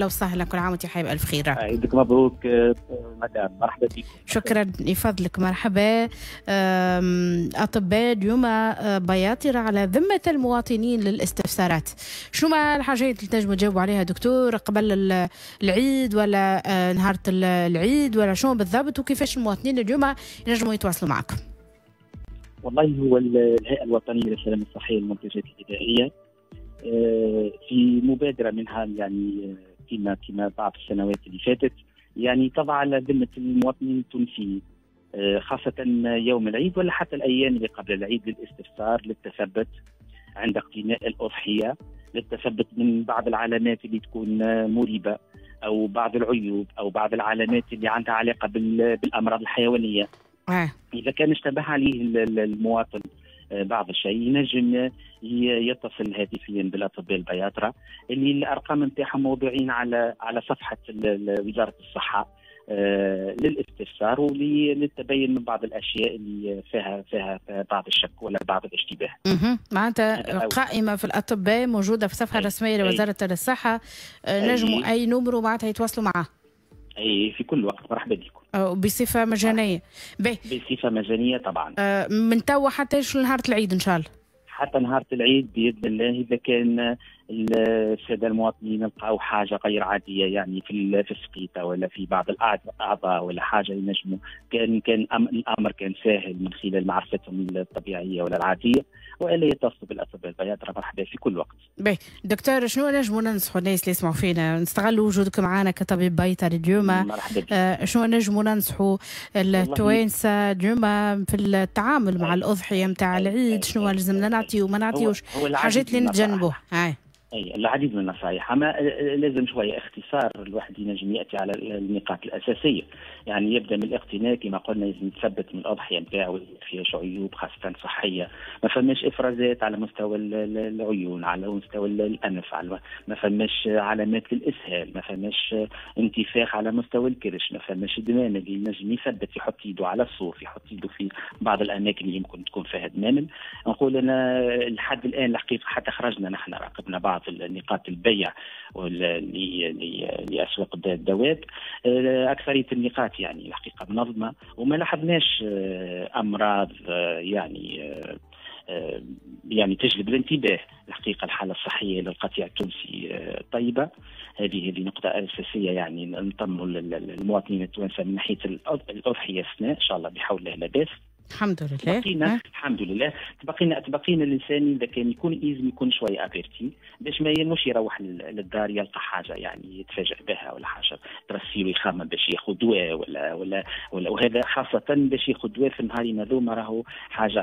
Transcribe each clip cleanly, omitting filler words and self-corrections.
وسهلا، كل عام وانت حي بألف خير. عيدك مبروك مدام، مرحبا بك. شكرا لفضلك، مرحبا. أطباء اليوم بياطرة على ذمة المواطنين للاستفسارات، شنو ما الحاجات اللي تنجموا تجاوبوا عليها دكتور قبل العيد ولا نهار العيد ولا شنو بالضبط، وكيفاش المواطنين اليوم ينجموا يتواصلوا معكم؟ والله هو الهيئة الوطنية للسلامة الصحية للمنتجات الغذائية في مبادرة منها، يعني كما بعض السنوات اللي فاتت، يعني تضع على ذمة المواطنين التونسيين خاصة يوم العيد ولا حتى الأيام اللي قبل العيد للاستفسار، للتثبت عند اقتناء الأضحية، للتثبت من بعض العلامات اللي تكون مريبة أو بعض العيوب أو بعض العلامات اللي عندها علاقة بالأمراض الحيوانية. إذا كان اشتبه عليه المواطن بعض الشيء ينجم يتصل هاتفيا بالاطباء البياطره اللي الارقام نتاعهم موضوعين على صفحة وزارة الصحة للاستفسار وللتبين من بعض الاشياء اللي فيها بعض الشك ولا بعض الاشتباه. معناتها قائمة في الاطباء موجودة في الصفحة الرسمية لوزارة الصحة، نجموا اي numéro معناتها يتواصلوا معاه. اي في كل وقت، مرحبا بكم. بصفة مجانية. بصفة مجانية طبعا. من توا حتى نهار العيد ان شاء الله. حتى نهار العيد باذن الله، اذا كان السادة المواطنين لقاو حاجة غير عادية يعني في السقيطه ولا في بعض الاعضاء ولا حاجة، ينجموا كان الامر كان ساهل من خلال معرفتهم الطبيعية ولا العادية، والا يتصلوا بالاطباء البياطره، مرحبا في كل وقت. باهي دكتور، شنو نجموا ننصحوا الناس اللي يسمعوا فينا؟ نستغلوا وجودك معنا كطبيب بيطري اليوم. مرحبا بك. شنو نجموا ننصحوا التوانسة اليوم في التعامل مع الاضحية نتاع العيد؟ شنو لازمنا نعطيو وما نعطيوش؟ حاجات اللي نتجنبوها. اي العديد من النصائح، اما لازم شوية اختصار، الواحد ينجم ياتي على النقاط الاساسية. يعني يبدا من الاقتناء كما قلنا، لازم يتثبت من الاضحية نتاعو فيها عيوب خاصة صحية، ما فماش افرازات على مستوى العيون، على مستوى الانف، على ما فماش علامات للاسهال، ما فماش انتفاخ على مستوى الكرش، ما فماش دمامل اللي ينجم يثبت، يحط يده على الصوف، يحط يده في بعض الاماكن اللي يمكن تكون فيها دمامل. نقول انا لحد الان الحقيقة حتى خرجنا نحن راقبنا بعض نقاط البيع لاسواق الدواب، اكثرية النقاط يعني الحقيقة منظمة وما لاحظناش امراض يعني تجلب الانتباه. الحقيقة الحالة الصحية للقطيع التونسي طيبة، هذه نقطة اساسية، يعني نطمنوا المواطنين التوانسة من ناحية الاضحية السنة ان شاء الله بحول الله لاباس. الحمد لله. تبقينا الحمد لله، تبقينا الانسان اذا كان يكون لازم يكون شوية averti باش ما مش يروح للدار يلقى حاجة يعني يتفاجئ بها ولا حاجة ترسيله يخمم باش ياخذ دواء ولا ولا ولا، وهذا خاصة باش ياخذ دواء في النهارين هذوما راهو حاجة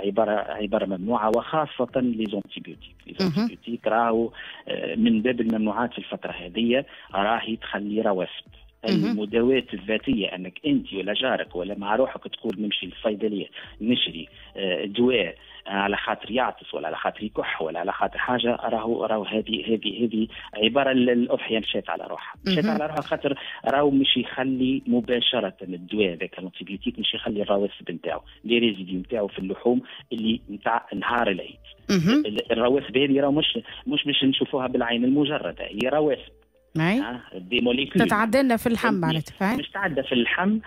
عبارة ممنوعة، وخاصة les antibiotiques. les antibiotiques راهو من باب الممنوعات في الفترة هذه، راهي تخلي رواسب. المداوات الذاتية انك انت ولا جارك ولا مع روحك تقول نمشي للصيدليه نشري دواء على خاطر يعطس ولا على خاطر يكح ولا على خاطر حاجة، راهو هذه عبارة الاضحية مشات على روحها، مشات على روحها، خاطر راهو مش يخلي مباشرة الدواء هذاك ال antibiotique مش يخلي الرواسب نتاعو، les résidus نتاعو في اللحوم اللي نتاع نهار العيد. الرواسب هذه راهو مش باش نشوفوها بالعين المجردة، هي رواسب des molécules تتعدى لنا في اللحم معناتها، مش تعدى في اللحم،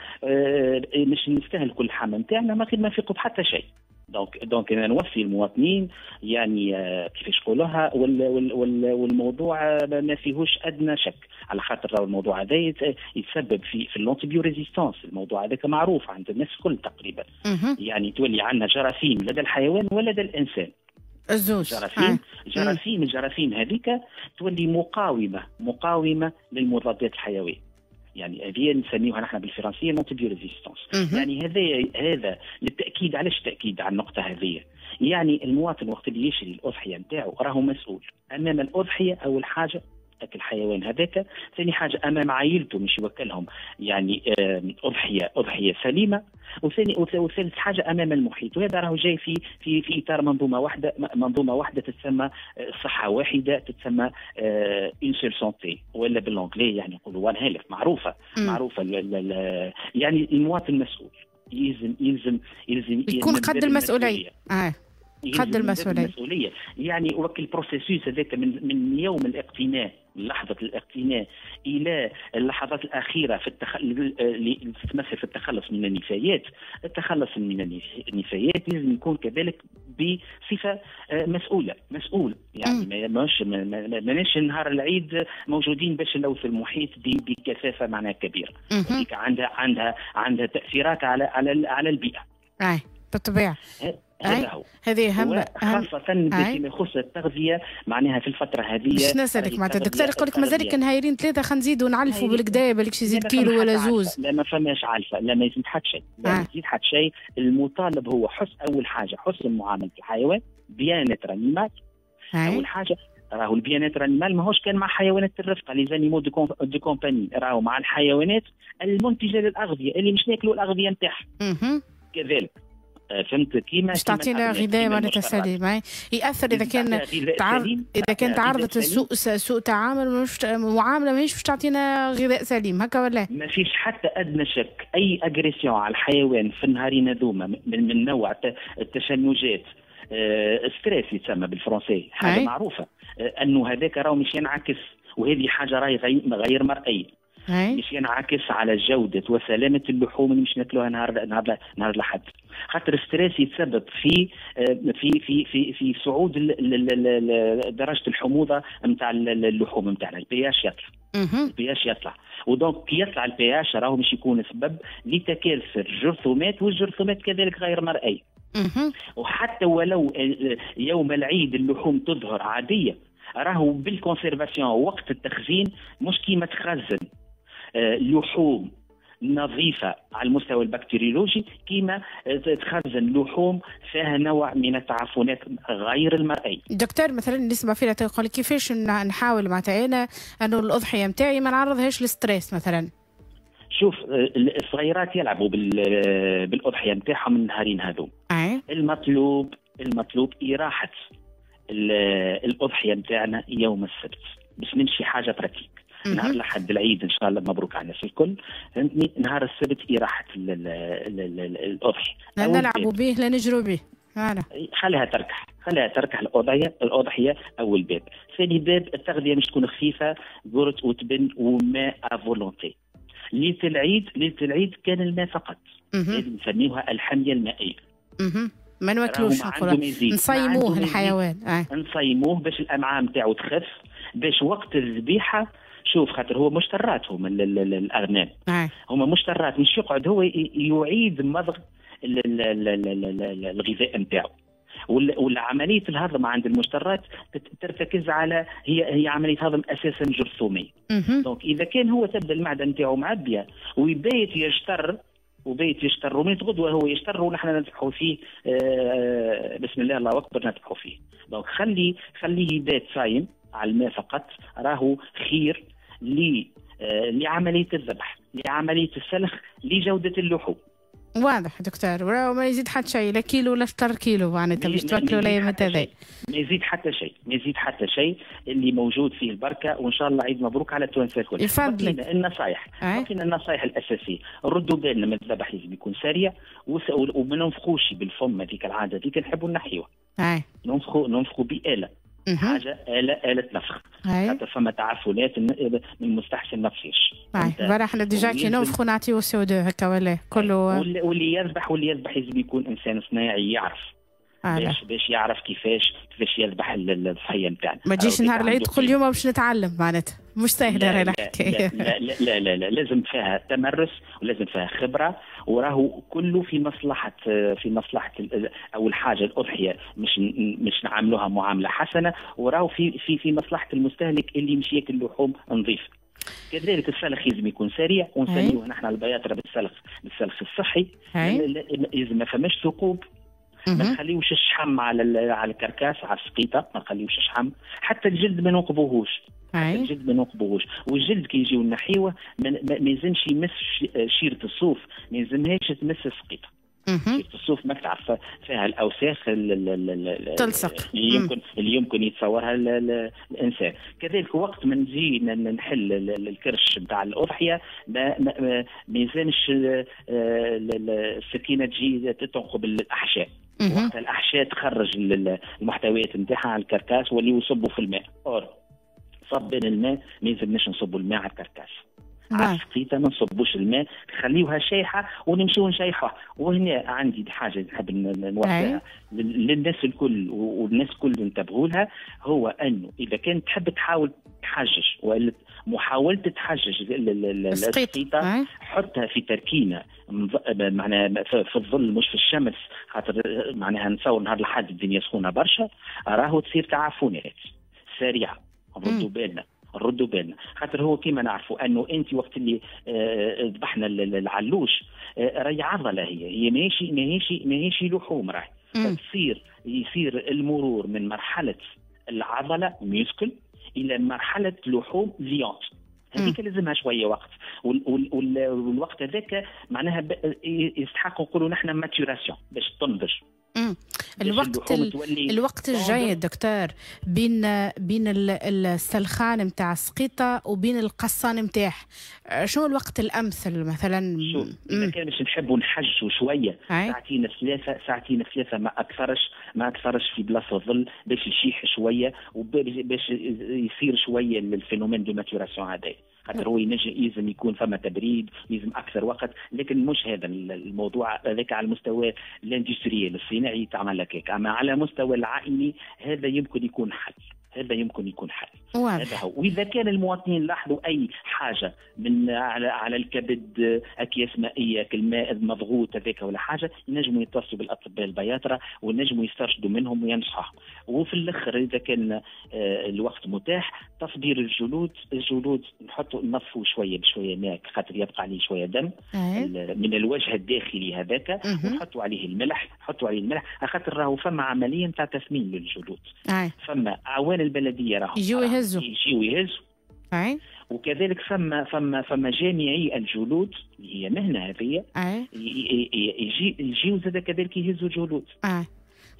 مش نستهلكوا اللحم نتاعنا ما غير ما نفيقوا بحتى شيء. donc انا نوصي المواطنين يعني كيفاش نقولوها، والموضوع ما فيهوش ادنى شك، على خاطر راهو الموضوع هذا يتسبب في ال antibiorésistance. الموضوع هذاك معروف عند الناس الكل تقريبا. يعني تولي عندنا جراثيم لدى الحيوان ولدى الانسان. الزوج جراثيم الجراثيم هذيك تولي مقاومة للمضادات الحيوية، يعني هذه نسميوها نحن بالفرنسيه l'antibiorésistance. يعني هذا للتاكيد. علاش التاكيد على النقطة هذه؟ يعني المواطن وقت اللي يشري الاضحية نتاعو راهو مسؤول امام الاضحية، اول حاجة الحيوان هذاك، ثاني حاجة امام عائلته مش يوكلهم يعني اضحية سليمة، وثالث حاجة امام المحيط. وهذا راهو جاي في في في اطار منظومة واحدة، منظومة واحدة تتسمى صحة واحدة، تتسمى une seule santé ولا بال anglais يعني نقولوا one health، معروفة معروفة. يعني المواطن مسؤول، يلزم يلزم يلزم يكون قد المسؤولية. قد المسؤولية. يعني وكل processus هذاك من يوم الاقتناء لحظة الاقتناء إلى اللحظات الأخيرة في اللي تتمثل في التخلص من النفايات. التخلص من النفايات لازم يكون كذلك بصفة مسؤولة، مسؤول يعني ماناش نهار العيد موجودين باش نلوث المحيط بكثافة معناها كبيرة، هذيك عندها تأثيرات على على على البيئة. أي بالطبيعة. هذا هو، هذه أهم، خاصة فيما يخص التغذية معناها في الفترة هذه. باش نسألك معناتها الدكتور يقول لك مازال نهايرين ثلاثة خلينا نزيدوا نعلفوا بالكدا بالك يزيد كيلو ولا زوز. لا ما فماش علفة، لا ما يزيد حتى شيء، لا ما يزيد حتى شيء. المطالب هو حسن، أول حاجة حسن معاملة الحيوان، bien-être animal. أول حاجة راهو ال bien-être animal ماهوش كان مع حيوانات الرفقة les animaux de compagnie، راهو مع الحيوانات المنتجة للأغذية اللي مش ناكلوا الأغذية نتاعها كذلك. فهمت كيما باش تعطينا غذاء معناتها سليم ياثر اذا كان اذا كان تعرضت لسوء سوء تعامل، مش معاملة ماهيش باش تعطينا غذاء سليم هكا ولا؟ ما فيش حتى ادنى شك، اي agression على الحيوان في النهارين هذوما من نوع التشنجات، stress يتسمى بالفرنسي، حاجة معروفة انه هذاك راهو مش ينعكس، وهذه حاجة راهي غير مرئية، مش ينعكس على جودة وسلامة اللحوم اللي مش ناكلوها نهار نهار نهار الأحد، خاطر stress يتسبب في في في في في صعود درجة الحموضة نتاع اللحوم نتاعنا، ال pH يطلع، ال pH يطلع، و donc كي يطلع ال pH راهو مش يكون سبب لتكاثر الجرثومات، والجرثومات كذلك غير مرئية. وحتى ولو يوم العيد اللحوم تظهر عادية، راهو بال conservation وقت التخزين مش كيما تخزن لحوم نظيفة على المستوى البكتيريولوجي كيما تخزن لحوم فيها نوع من التعفنات غير المرئية. دكتور مثلا نسمع فينا تقول كيفاش نحاول معناتها أنا أنه الأضحية نتاعي ما نعرضهاش لل stress مثلا؟ شوف الصغيرات يلعبوا بالأضحية نتاعهم النهارين هذو. المطلوب إراحة الأضحية نتاعنا يوم السبت باش نمشي حاجة pratique. نهار لحد العيد ان شاء الله مبروك على الناس الكل، فهمتني؟ نهار السبت إراحة الأضحية. لا نلعبوا به لا نجروا به. خليها تركح، خليها تركح الأضحية أول باب. ثاني باب التغذية مش تكون خفيفة، قرط وتبن وماء à volonté. ليلة العيد، ليلة العيد كان الماء فقط، هذه نسميوها الحمية المائية. ما ناكلوش، نصيموه الحيوان. نصيموه باش الأمعاء نتاعو تخف، باش وقت الذبيحة. شوف خاطر هو مشترات، هم الأغنام هما مشترات، مش يقعد هو يعيد مضغ الغذاء نتاعو. والعملية الهضم عند المشترات ترتكز على هي عملية هضم أساسا جرثومية. donc إذا كان هو تبدا المعدة نتاعو معبية ويبيت يجتر وبيت يجتر ومن غدوة هو يجتر ونحن نذبحوا فيه، بسم الله الله أكبر نذبحوا فيه. donc خليه يبات صايم على الماء فقط، راهو خير لعملية الذبح، لعملية السلخ، لجودة اللحوم. واضح دكتور، ما يزيد حتى شيء، لا كيلو ولا شطر كيلو معناتها باش توكلوا ولا هذا. ما يزيد حتى شيء، ما يزيد حتى شيء، اللي موجود فيه البركة، وإن شاء الله عيد مبروك على التوانسة الكل. يفضلك. النصائح، لكن النصائح الأساسية، ردوا بالنا من الذبح لازم يكون سريع، وما ننفخوش بالفم هذيك العادة هذيك نحبوا نحيوها. ننفخوا بآلة. حاجة آلة نفخ، حتى فما تعفنات من المستحسن ما تصيرش. voilà احنا déjà كي ننفخوا نعطيو CO2 هكا ولا كله. واللي يذبح لازم يكون انسان صناعي يعرف باش يعرف كيفاش يذبح الضحية نتاعنا. ما تجيش نهار العيد كل يوم باش نتعلم معناتها مش سهلة راهي الحكاية. لا لا لا لا، لازم فيها تمرس ولازم فيها خبره، وراهو كله في مصلحة، في مصلحة اول حاجة الاضحية مش نعاملوها معاملة حسنه، وراهو في في في مصلحة المستهلك اللي مش ياكل لحوم نظيفة. كذلك السلخ لازم يكون سريع، ونسميوه نحن البياطره بالسلخ الصحي. لازم ما فماش ثقوب، ما نخليوش الشحم على ال carcasse، على السقيطه ما نخليوش الشحم، حتى الجلد ما ننقبوهوش. الجلد ما ننقبوهوش، والجلد كي يجيو نحيوه ما يلزمش يمس شيره الصوف، ما يلزمهاش تمس السقيطه. شيره الصوف ما تعرف فيها الاوساخ تلصق اللي يمكن يتصورها الانسان. كذلك وقت ما نجي نحل الكرش نتاع الاضحية ما يلزمش السكينة تجي تنقب الاحشاء. وقت الاحشاء تخرج المحتويات نتاعها على ال carcasse واللي يصبوا في الماء. or صبان الماء ما يلزمناش نصبوا الماء على ال carcasse، على السقيطه ما نصبوش الماء، خليوها شايحه ونمشيو نشيحوها. وهنا عندي حاجة نحب نوصلها للناس الكل والناس الكل انتبهوا لها، هو انه اذا كانت تحب تحاول تحجج ولا محاولة تحجج السقيطه، حطها في تركينه معناها في الظل مش في الشمس، خاطر معناها نتصور نهار الحد الدنيا سخونة برشا، راهو تصير تعفنات سريعة. نردوا بالنا، نردوا بالنا، خاطر هو كيما نعرفوا انه انت وقت اللي ذبحنا العلوش راهي عضلة، هي ماهيش لحوم، راهي تصير يصير المرور من مرحلة العضلة muscle الى مرحلة لحوم viande، هذيك لازمها شوية وقت، والوقت هذاك معناها يستحق نقولوا نحن maturation باش تنضج. الوقت الجاي دكتور بين السلخان نتاع السقيطه وبين القصان نتاعه، شنو الوقت الامثل مثلا؟ شوف، اذا كان باش نحبوا نحجوا شوية ساعتين ثلاثة، ساعتين ثلاثة ما اكثرش في بلاصة الظل باش يشيح شوية وباش يصير شوية ال phénomène de maturation هذا، خاطر هو ينجم يلزم يكون فما تبريد، يلزم اكثر وقت، لكن مش هذا الموضوع هذاك على المستوى l'industriel الصناعي تعمل لك هيك، اما على مستوى العائلي هذا يمكن يكون حل، هذا يمكن يكون حل. هذا هو. واذا كان المواطنين لاحظوا اي حاجة من على الكبد، اكياس مائيه، الماء المضغوط هذاك ولا حاجه، ينجموا يتصلوا بالاطباء البياطره ونجموا يسترشدوا منهم وينصحوا. وفي الاخر اذا كان الوقت متاح، تصبير الجلود، الجلود نحطوا نظفوا شوية بشوية ماء خاطر يبقى عليه شوية دم من الوجه الداخلي هذاك، ونحطوا عليه الملح، نحطوا عليه الملح خاطر راهو فما عملية نتاع تسمين للجلود. فما اعوان البلدية راهم يجيو يهزوا. يجيو يهزوا. وكذلك فما جامعي الجلود اللي هي مهنة هذه، يجيو زاد كذلك يهزوا جلود.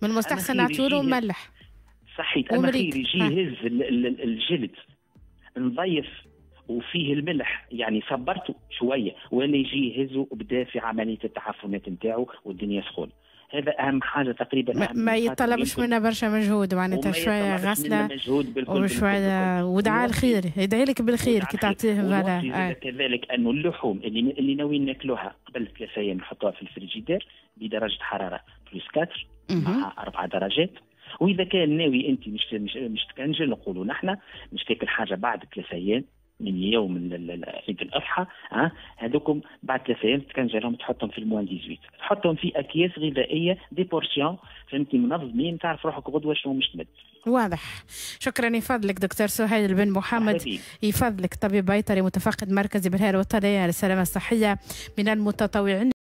من المستحسن نعطيو له ملح. صحيح، اما خير يجي يهز الجلد نظيف وفيه الملح، يعني صبرته شويه، ولا يجي يهزه وبدا في عملية التعفنات نتاعو والدنيا سخونة. هذا اهم حاجة تقريبا. ما يطلبش منا برشا مجهود، معناتها شوية غسله وشوية ودعاء الخير، يدعي لك بالخير كي تعطيه. voilà. كذلك انه اللحوم اللي ناويين ناكلوها قبل 3 ايام نحطوها في الفريجيدير بدرجة حرارة plus 4 مع 4 درجات. واذا كان ناوي انت مش تكنجل، نقولوا نحن مش تاكل حاجة بعد 3 ايام من يوم عيد الاضحى، ها هذوكم بعد 3 ايام تكنجلهم، تحطهم في ال moins 18، تحطهم في اكياس غذائية des portions، فهمتني، منظمين، تعرف روحك غدوه شنو مش تمد. واضح، شكرا. يفضلك دكتور سهيل بن محمد، يفضلك، طبيب بيطري متفقد مركزي بالهيئة الوطنية للسلامة الصحيه، من المتطوعين.